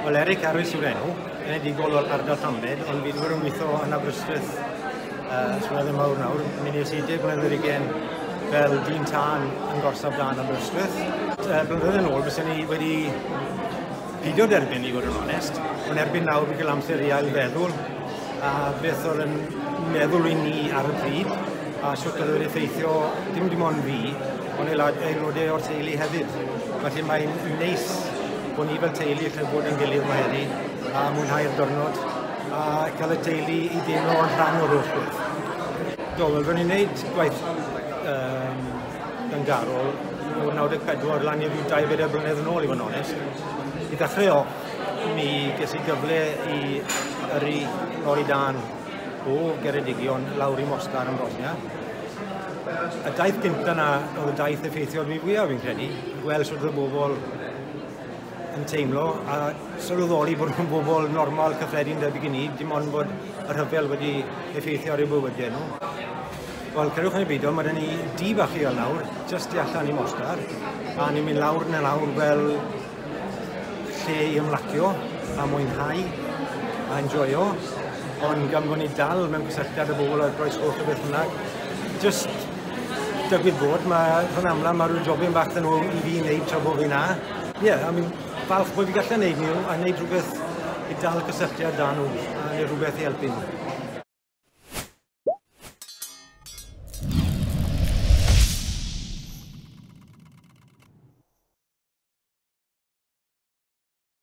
Wel, Eric Harris yw'r enw, enedigol o'r ardal Llambed, ond fi wedi bod yn gweithio yn Aberystwyth blynyddoedd mawr nawr. Mi nes i 10 mlynedd ar hugain fel dyn tân yn gorsaf dân Aberystwyth. Blynyddoedd yn ôl, byswn ni wedi pidio derbyn i fod yn onest, ond erbyn nawr fi cael amser i ailfeddwl a beth oedd yn meddwl i ni ar y pryd a sut oedd wedi effeithio dim ond fi, ond aelodau o'r teulu hefyd. Felly mae'n neis bod ni fel teulu lle bod yn gilydd yma heddi a mwynhau'r diwrnod a cael y teulu i deimlo yn rhan o'r holl beth. Do, wel, ro'n i'n gwneud gwaith dyngarol o'r 94 lan i ryw 24 blynedd yn ôl i fod yn onest. I ddechrau off, mi ges i gyfle i yrru lori dân o Geredigion lawr i Mostar yn Bosnia. Y daith gyntaf na oedd y daith effeithiodd fi fwyaf fi'n credu, gweld sut oedd y bobl yn teimlo a sylweddoli bod nhw'n bobl normal cyffredin debyg i ni, dim ond bod y rhyfel wedi effeithio ar eu bywydau nhw. Wel, cerwch yn y beidio, mae 'da ni dŷ bach lleol nawr, jyst tu allan i Mostar, a ni'n mynd lawr na lawr fel lle i ymlacio a mwynhau a enjoyo, ond gan bod ni dal mewn cysylltiad â bobl ar Groes Goch a beth bynnag, jyst digwydd bod, mae rhan amla mae rhyw jobyn bach 'da nhw i fi wneud tra bod fi 'na. Ie, yeah, I mean, falch bod fi gallu wneud nhw a wneud rhywbeth i dal cysylltiad 'da nhw a wneud rhywbeth i helpu nhw.